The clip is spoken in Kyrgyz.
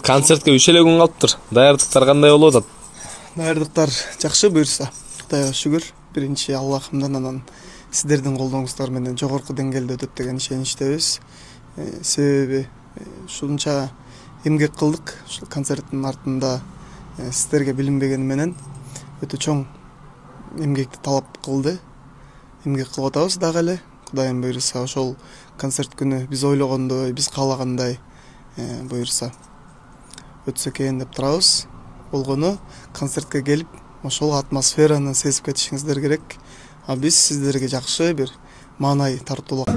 Концертке 3 эле күн калыптыр. Даярдыктар кандай болуп атат? Даярдыктар жакшы буюрса. Кудайга шүгүр. Биринчи Аллахымдан, анан сиздердин колдооңуздар менен жогорку деңгээлде өтөт деген ишеничтебиз. Себеби ушунча эмгек кылдык. Ушул концерттин артында сиздерге билинбегени менен өтө чоң эмгекти талап кылды. Эмгек кылып атабыз дагы эле. Кудайым буюрса, ошол концерт күнү биз ойлогондой, биз каалагандай буюрса өтсө экен деп турабыз. Болгону концертке келип, ошол атмосфераны сезип кетишиңиздер керек. А биз сиздерге жакшы бир маанай тартуулап